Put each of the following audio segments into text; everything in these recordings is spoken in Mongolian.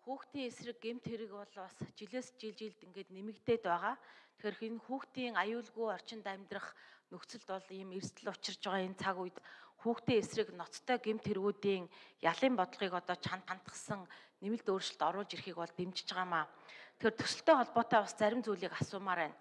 Хүүхдийн эсрэг гэмт хэрэг бол бас жилд ингээд нэмэгдээд байгаа. Тэгэхээр энэ хүүхдийн аюулгүй орчинд амьдрах нөхцөлд бол ийм эрсдэл учирч байгаа энэ цаг үед хүүхдийн эсрэг ноцтой гэмт хэрэгүүдийн ялын бодлогыг одоо чанд хандгсан нэмэлт өөрчлөлт оруулж ирэхийг бол дэмжиж байгаамаа. Тэгэхээр төсөлтэй холбоотой бас зарим зүйлийг асуумаар байна.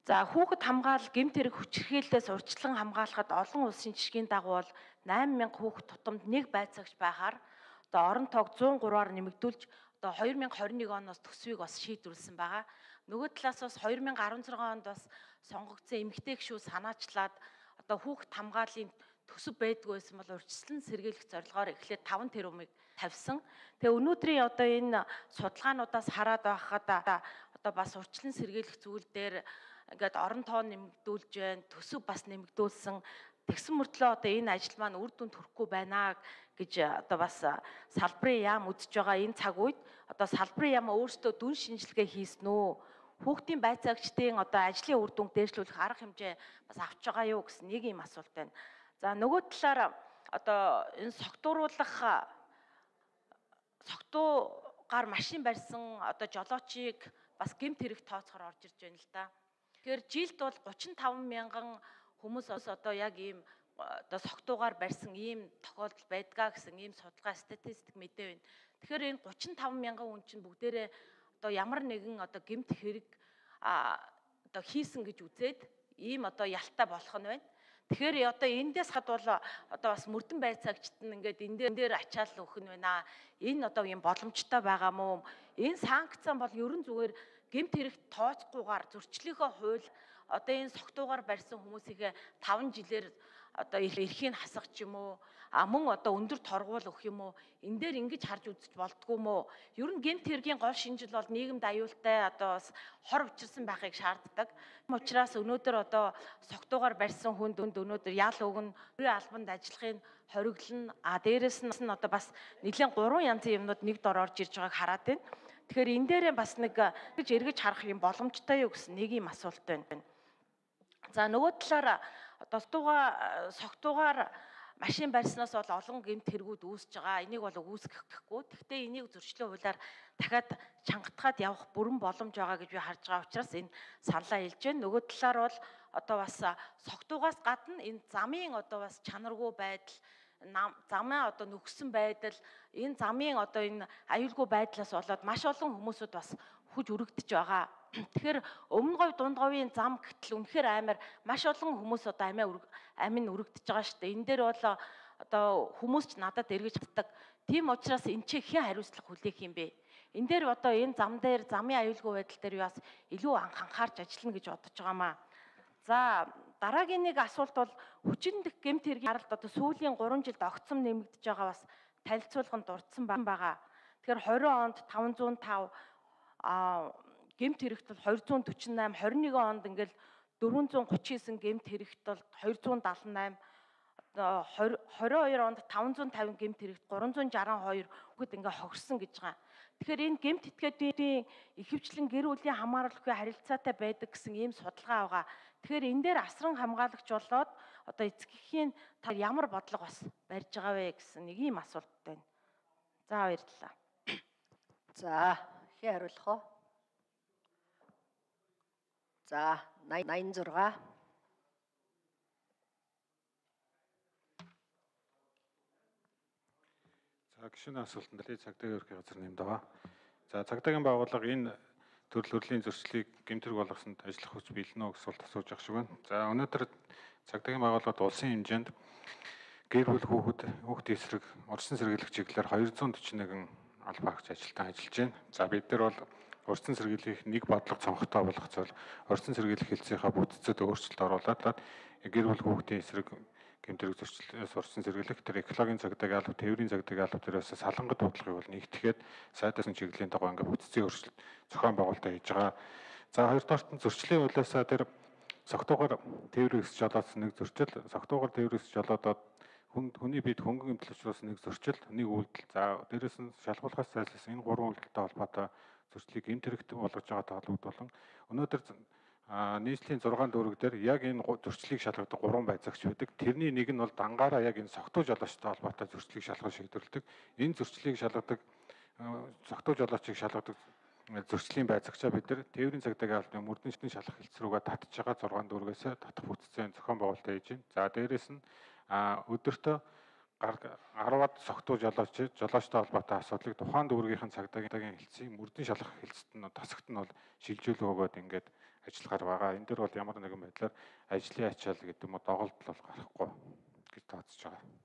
За хүүхэд хамгаалал гэмт хэрэг хүчирхийллээс урьдчилан хамгаалахад олон улсын жишгийн дагуу бол 8,000 хүүхэд тутамд нэг байцаагч байхаар одоо орон тоог 103-аар нэмэгдүүлж одоо 2021 оноос төсвийг бас шийдвэрлсэн байгаа. Нөгөө талаас бас 2016 онд бас сонгогдсон эмэгтэй гишүүд санаачлаад одоо хүүхэд хамгааллын төсөв байдгүй байсан бол урьдчилан сэргийлэх зорилгоор эхлээд 5 тэрбумыг тавьсан. Тэгээ өнөөдрийн одоо энэ судалгаануудаас хараад байхад одоо бас урьдчилан сэргийлэх зүйл дээр ингээд орон тоо нэмэгдүүлж байна, төсөв бас нэмэгдүүлсэн. Тэгсэн мөртлөө одоо энэ ажил маань үр дүнд хүрэхгүй байна гэж одоо бас салбарын яам үзэж байгаа энэ цаг үед одоо салбарын яам өөрсдөө дүн шинжилгээ хийсэн үү? Хүүхдийн байцаагчдын одоо ажлын үр дүнг дээшлүүлэх арга хэмжээ бас авч байгаа юу гэсэн нэг юм асуулт байна. За нөгөө талаар одоо энэ согтуугаар машин барьсан одоо жолоочийг бас гэмт хэрэг тооцохоор орж ирж байна л да. Тэгэхээр жилд бол 35 мянган хүмүүс одоо яг ийм одоо согтуугаар барьсан ийм тохиолдол байдгаа гэсэн ийм судалгаа статистик мэдээ байна. Тэгэхээр энэ 35 мянган хүн чинь бүгдээрээ одоо ямар нэгэн одоо гэмт хэрэг одоо хийсэн гэж үзээд ийм одоо ялтай болох нь байна. Тэгэхээр одоо эндээс хад бол одоо бас мөрдөн байцаагчд нь ингээд энэ дээр ачаал өгөх нь байна. Энэ одоо юм боломжтой байгаа мó. Энэ санкцсан бол ерөн зүгээр гэмт хэрэг тооцохгүйгээр зөрчлийнхөө хууль одоо энэ согтуугаар барьсан хүмүүсийнхээ 5 жилээр одоо эрхийг хасах ч юм уу мөн одоо өндөр торгуул өгөх юм уу энэ дээр ингэж харж үзэж болдгоо мó. Ер нь гэмт хэргийн гол шинжил бол нийгэмд аюултай одоо бас хор учирсан байхыг шаарддаг. Учираас өнөөдөр одоо согтуугаар барьсан хүнд өнөөдөр ял өгнө, бүрийн албанд ажиллахын хориглоно. Дээрэс нь одоо бас нэлээд 3 янзын юмнууд нэг дор орж ирж байгааг хараад байна. Тэгэхээр энэ дээрээ бас нэг гэж эргэж харах юм боломжтой юу гэсэн нэг юм асуулт байна. За нөгөө талаар одоо согтуугаар машин барьснаас бол олон гэмт хэрэгүүд үүсэж байгаа. Энийг бол үүсгэхгүй. Гэхдээ энийг зөрчлийн хуулиар дахиад чангатгаад явах бүрэн боломж байгаа гэж би харж байгаа учраас энэ саналаа хэлж байна. Нөгөө талаар бол одоо бас согтуугаас гадна энэ замын одоо бас чанаргүй байдал, замаа одоо нөхсөн байдал, энэ замын одоо энэ аюулгүй байдлаас болоод маш олон хүмүүсүүд бас хүж өргөдөж байгаа. Тэгэхээр өмнө говь дунд говийн зам гэтэл үнэхээр амар маш олон хүмүүс одоо амин өргөдөж байгаа шүү дээ. Энэ дээр бол одоо хүмүүс ч надад эргэж чаддаг. Тийм учраас энэ чи хэн хариуцлага хүлээх юм бэ? Энэ дээр одоо энэ зам дээр замын аюулгүй байдал дээр бас илүү анхаарч ажиллана гэж бодож байгаамаа. За дараагийн нэг асуулт бол хүчин гэмт хэргийн харалт одоо сүүлийн 3 жилд огцом нэмэгдэж байгаа бас танилцуулганд дурдсан байгаа. Тэгэхээр 20 онд 505 гэмт хэрэгт бол 248, 21 онд ингээл 439 гэмт хэрэгт бол 278, 22 онд 550 гэмт хэрэгт 362 хүүхэд ингээ хогссон гэж байгаа. Тэгэхээр энэ гэмт этгээдийн ихэвчлэн гэр бүлийн хамааруулахын харилцаатай байдаг гэсэн ийм судалгаа байгаа. Тэгэхээр энэ дээр асран хамгаалагч болоод одоо эцгийн та ямар бодлого бас барьж байгаа вэ гэсэн нэг ийм асуулт байна. За баярлалаа. За хий хариулах уу? За 86. За гишүүний асуултанд цагдаагийн ерхий газар нэмд байгаа. За цагдаагийн байгууллага энэ төрөл төрлийн зөрчлийг гэмт хэрэг болгосонд ажиллах хүч бэлэн үү гэсэн асуулт асууж байгаа шиг байна. За өнөөдөр цагдаагийн байгууллагад улсын хэмжээнд гэр бүл хүүхдийн эсрэг урьдчилан сэргийлэх чиглэлээр 241 албаа агч ажилтан ажиллаж байна. За бид нар бол урьдчилан сэргийлэх нэг бодлого цонхтой болгох зүйл урьдчилан сэргийлэх хэлцээхээ бүтцэд өөрчлөлт оруулаад гэр бүл хүүхдийн эсрэг гэмт хэрэг зөрчлөөс урьдчилан сэргийлэх тэр экологийн цагдаагийн алба, тээврийн цагдаагийн алба төрөөс салангад бодлогыг бол нэгтгэхэд сайдаас нь чиглэлийн дагуу ингээд бүтцийн өөрчлөлт зохион байгуулалтаа хийж байгаа. За хоёрдугаарт нь зөрчлийн хуулиас тэр согтуугаар тээврийг өсч жолоодсон нэг зөрчил, согтуугаар тээврийг өсч жолоодоод хүний бид хөнгөн эмтэл учраас нэг зөрчил, нэг үйлдэл. За дээрэс нь шалгуулахаас зайлсхийсэн энэ гурван үйлдэлтэй холбоотой зөрчлийг гэмт хэрэгт болгож байгаа тоологд болон өнөөдөр нийслэлийн 6 дүүрэг дээр яг энэ зөрчлийг шалгадаг 3 байцаагч байдаг. Тэрний нэг нь бол дангаараа яг энэ согтуу жолоочтой холбоотой зөрчлийг шалгах шийдвэрлэдэг. Энэ зөрчлийг шалгадаг согтуу жолоочийг шалгадаг зөрчлийн байцаагчаа бид нар тээврийн цагдаагийн албаны мөрдөн шалгах хэлц рүүгээ татж байгаа 6 дүүргээс татах бүтцийн зохион байгуулалтаа хийж байна. За дээрэс нь өдөртөө 10-аад согтуу жолоочтой холбоотой асуудлыг тухайн дүүргийнхэн цагдаагийн хэлцийг мөрдөн шалгах хэлцэд нь тасагт нь бол шилжүүлэг өгөөд ингээд ажиллагаар байгаа. Энэ дээр бол ямар нэгэн байдлаар ажлын ачаал гэдэг юм уу доголдол бол гарахгүй гэж тооцож байгаа.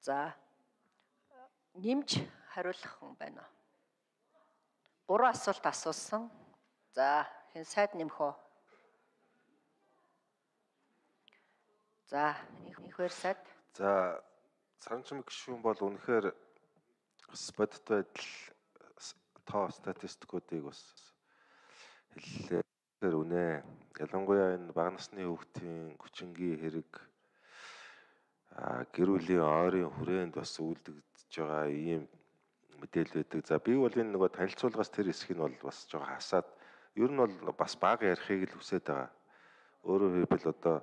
За нэмж хариулах хүн байна уу? 3 асуулт асуусан. За хэн сайд нэмэх үү? За ихвэр сайд. За Саранчмын гишүүн бол үнэхээр бодит байдал тоо статистикуудыг бас хэллээ үнэ. Ялангуяа энэ бага насны хүүхдийн хүчингийн хэрэг гэр бүлийн ойрын хүрээнд бас үйлдэгдэж байгаа ийм мэдээлэл байдаг. За би бол энэ нөгөө танилцуулгаас тэр хэсгийг нь бол бас жоо хасаад ер нь бол бас бага ярихыг л хүсэж байгаа. Өөрөөр хэлбэл одоо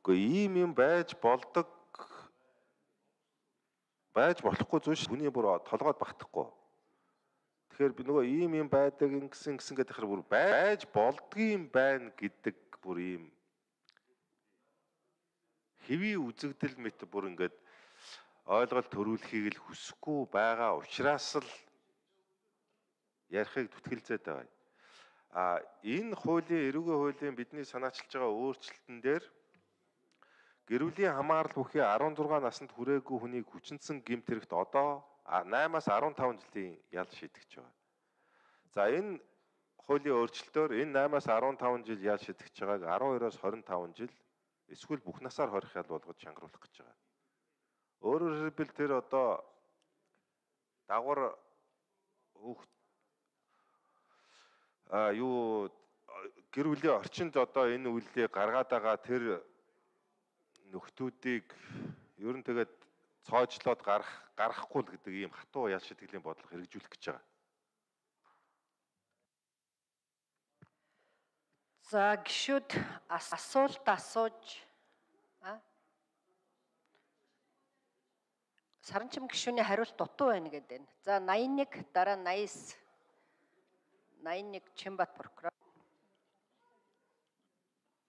үгүй ийм юм байж болдог байж болохгүй зүйл шүү. Хүний бүр толгойд багтахгүй. Тэгэхээр би нөгөө ийм байдаг ингэсэн гэдэг хэрэг бүр байж болдгийм байна гэдэг бүр ийм хэвийн үзэгдэл мэт бүр ингээд ойлголт төрүүлэхийг л хүсэхгүй байгаа учраас л ярихыг зүтгэлзээд байгаа. Энэ хуулийн эрүүгийн хуулийн бидний санаачилж байгаа өөрчлөлтөн дээр гэр бүлийн хамаарал бүхий 16 наснд хүрээгүй хүнийг хүчинсэн гэмт хэрэгт одоо 8-аас 15 жилийн ял шийдэж байгаа. За энэ хуулийн өөрчлөлтөөр энэ 8-аас 15 жил ял шийдэж байгааг 12-оос 25 жил эсвэл бүх насаар хорих ял болгож чангаруулах гэж байгаа. Өөрөөр хэлбэл тэр одоо дагвар гэр бүлийн орчинд одоо энэ үйлдэлийг гаргаад байгаа тэр нөхдүүдийг ер нь тэгээд цоожлоод гарахгүй л гэдэг ийм хатуу ял шитгэлийн бодлого хэрэгжүүлэх гэж байгаа. За гишүүд асуулт асууж Саранчим гишүүний хариулт дутуу байна гэдэг нь. За 81 дараа 89 81 Чимбат прокурор.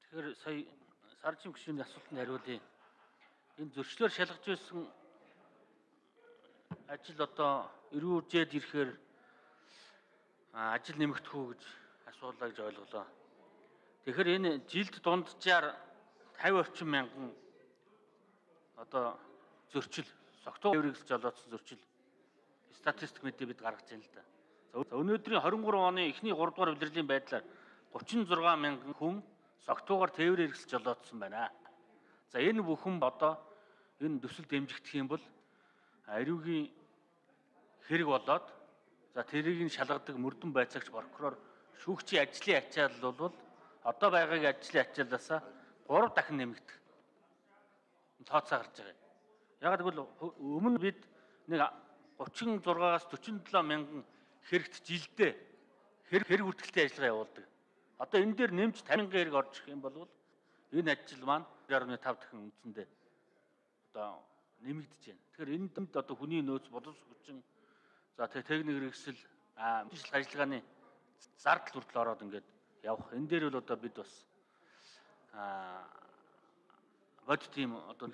Тэгэхээр сая Саранчим гишүүний асуултанд хариулъя. Энэ зөрчлөөр шалгаж байсан ажил одоо эрүүжээд ирэхээр ажил нэмэгдэх үү гэж асуулаа гэж ойлголоо. Тэгэхээр энэ жилд дунджаар 50 орчим мянган одоо зөрчил согтуу тээврийг жолоодсон зөрчил статистик мэдээ бид гаргаж байна л да. За өнөөдрийн 23 оны эхний 3 дугаар улирлын байдлаар 36 мянган хүн согтуугаар тээврээр хэрэгсэл жолоодсон байна. За энэ бүхэн одоо энэ төсөл дэмжигдэх юм бол эрүүгийн хэрэг болоод за тэрийг нь шалгадаг мөрдөн байцаагч прокурор шүүгчийн ажлын ачаал бол одоо байгаагийн ажлын ачаалаасаа 3 дахин нэмэгдэх тооцоо гарч байгаа. Яг гэвэл өмнө бид нэг 36-аас 47 мянган хэрэгт жилдээ хэрэг хүртгэлтэй ажиллагаа явуулдаг. Одоо энэ дээр нэмж 50 мянган хэрэг орж ирэх юм бол энэ ажил маань 2.5 дахин үндсэндээ одоо нэмэгдэж байна. Тэгэхээр энд одоо хүний нөөц боловс хүчин за техник хэрэгсэл мэдээлэл ажиллагааны зардал хүртэл ороод ингээд явах. Энэ дээр бол одоо бид бас бодит тийм одоо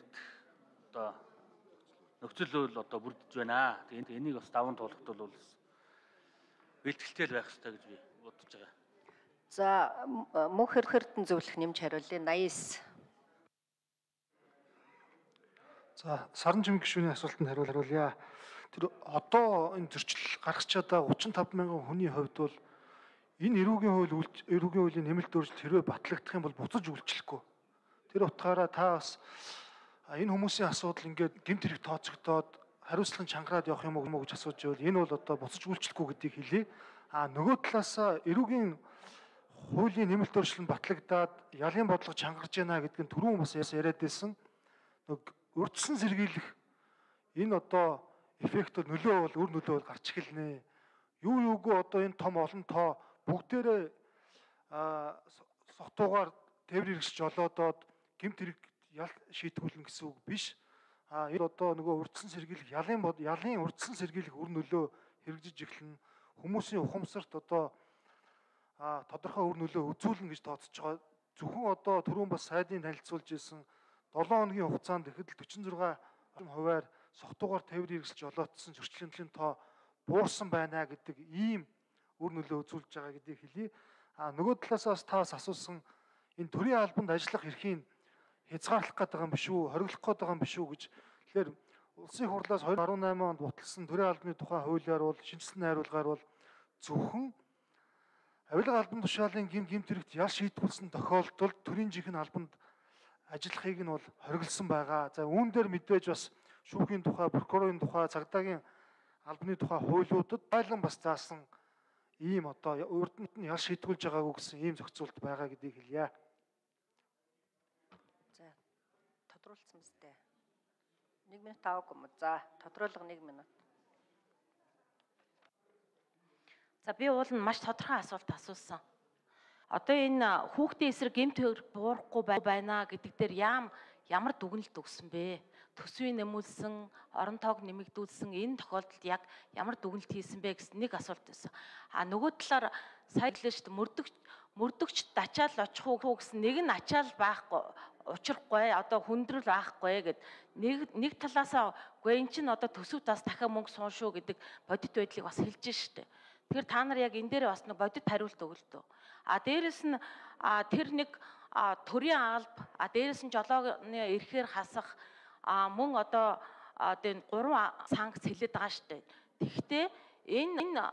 нөхцөл бол одоо бүрдэж байна. Тэгээд энийг бас даван туулахд бол бэлтгэлтэй байх хэрэгтэй гэж би бодож байгаа. За мөнх эрдэнэ зөвлөх нэмж хариулъя 89. За Саранчим гишүүний асуултанд хариулъя. Тэр одоо энэ зөрчил гаргаж чадаа 35 мянган хүний хувьд бол энэ эрүүгийн хуулийн нэмэлт өөрчлөлт хэрвээ батлагдах юм бол буцаж үйлчлэхгүй. Тэр утгаараа та бас энэ хүмүүсийн асуудал ингээд гэмт хэрэг тооцогдоод хариуцлагын чангараад явах юм уу гэж асууж байвал энэ бол одоо буцаж үйлчлэхгүй гэдгийг хэлье. Нөгөө талаас эрүүгийн хуулийн нэмэлт өөрчлөлт батлагдаад ялын бодлого чангарч байна гэдг нь түрүүн бас яриад байсан. Урьдчилан сэргийлэх энэ одоо эффект нөлөө бол гарч эхэлнэ. Юугүй одоо энэ том олон тоо бүгдээрээ согтуугаар тээвэр хэрэгсэж жолоодоод гэмт хэрэг ял шийтгүүлнэ гэсэн үг биш. энэ одоо нөгөө урдсан сэргийлэх ялын урдсан сэргийлэх үр нөлөө хэрэгжиж эхэлнэ. Хүмүүсийн ухамсарт одоо тодорхой үр нөлөө үзүүлнэ гэж тооцож байгаа. Зөвхөн одоо түрүүн бас сайдын танилцуулж ирсэн 7 хоногийн хугацаанд ихэд 46% согтуугаар тээврийн хэрэгсэл жолоодсон зөрчлийн тоо буурсан байна гэдэг ийм үр нөлөө үзүүлж байгаа гэдгийг хэлье. Нөгөө талаасаа бас таас асуусан энэ төрийн албанд ажиллах эрхийг хязгаарлах гэдэг юм биш үү, хориглох гэдэг юм биш үү гэж. Тэгэхээр улсын хурлаас 2018 онд баталсан төрийн албаны тухай хуулиар бол шинжилсэн найруулгаар бол зөвхөн авилга албан тушаалын гэмт хэрэгт ял шийтгүүлсэн тохиолдолд төрийн жинхэнэ албанд ажиллахыг нь бол хориглосон байгаа. За үүн дээр мэдээж бас шүүхийн тухай, прокурорын тухай, цагдаагийн албаны тухай хуулиудад байлан бас заасан ийм одоо урд нь ял шийтгүүлж байгаагүй гэсэн ийм зохицуулт байгаа гэдгийг хэлье. За тодруулсан мэт. 1 минут аваагүй юм. За тодруулга 1 минут. За би уул нь маш тодорхой асуулт асуусан. Одоо энэ хүүхдийн эсрэг гэмт хэрэг буурахгүй байна гэдэг дээр ямар дүгнэлт өгсөн бэ? Төсвийн нэмүүлсэн, орон тоог нэмэгдүүлсэн энэ тохиолдолд яг ямар дүгнэлт хийсэн бэ гэсэн нэг асуулт байсан. Нөгөө талаар сая хэллээ шүү дээ, мөрдөгч ачаал очих уу гэсэн нэг нь ачаал байхгүй, учрахгүй, одоо хүндрэл байхгүй гэд нэг талаасаа үгүй эн чинь одоо төсөв тас дахиад мөнгө суун шүү гэдэг бодит байдлыг бас хэлж шүү дээ. Тэгэхээр та нар яг энэ дээр бас нэг бодит хариулт өгөлтөө. Дээрэс нь тэр нэг төрийн алба, дээрэс нь жолооны эрхээр хасах мөн одоо энэ 3 санкц хэлээд байгаа шүү дээ. Тэгэхдээ энэ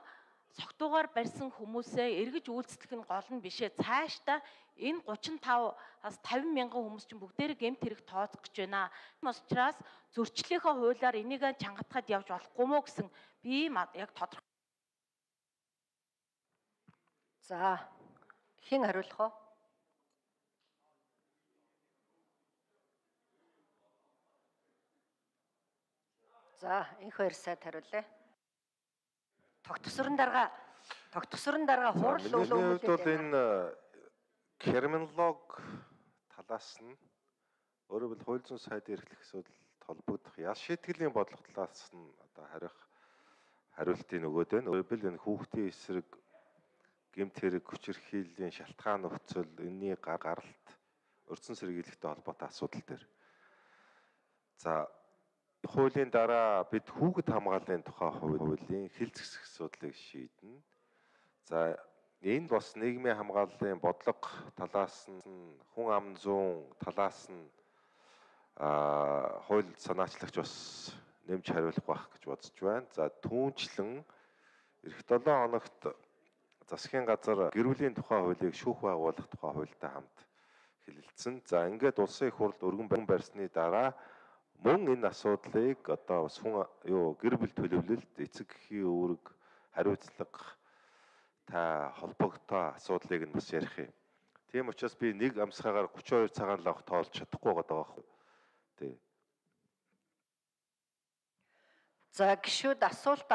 согтуугаар барьсан хүмүүсээ эргэж үйлчлэх нь гол нь бишээ. Цаашдаа энэ 35-аас 50 мянган хүмүүс чинь бүгдээрээ гэмт хэрэг тооцох гэж байна. Учраас зөрчлийнхөө хуулиар энийг чангатахад явж болохгүй мó гэсэн би яг тодорхой. За хэн хариулах вэ? За энх хоёр сайд хариулъя. Тогтсорын дарга хурал өглөө бол энэ терминолог талаас нь өөрөөр хэлбэл хууль зүйн сайдын эрхлэх асуудал холбогдох ял шийтгэлийн бодлого талаас нь одоо хариултын өгөөд байна. Өөрөөр хэлбэл энэ хүүхдийн эсрэг гэмт хэрэг хүчирхийллийн шалтгаан нөхцөл, энэний гаралт, урьдчилан сэргийлэлтэй холбоотой асуудал дээр. За хуулийн дараа бид хүүхэд хамгааллын тухай хуулийн хил зэвсэх асуудлыг шийднэ. За энд бас нийгмийн хамгааллын бодлого талаас нь хүн ам зүүн талаас нь хууль санаачлагч бас нэмж хариулах байх гэж бодож байна. За түүнчлэн эх 7 хоногт засгийн газар гэр бүлийн тухай хуулийг шүүх байгуулах тухай хуультай хамт хэлэлцсэн. За ингээд улсын их хурлд өргөн барьсны дараа мөн энэ асуудлыг одоо бас гэр бүл төлөвлөлт, эцэг эхийн үүрэг, хариуцлага та холбогдоо асуудлыг нь бас ярих юм. Тийм учраас би нэг амсгаагаар 32 цагаан лавх тоолж чадахгүй байгаа байхгүй. Тий. За гишүүд асуулт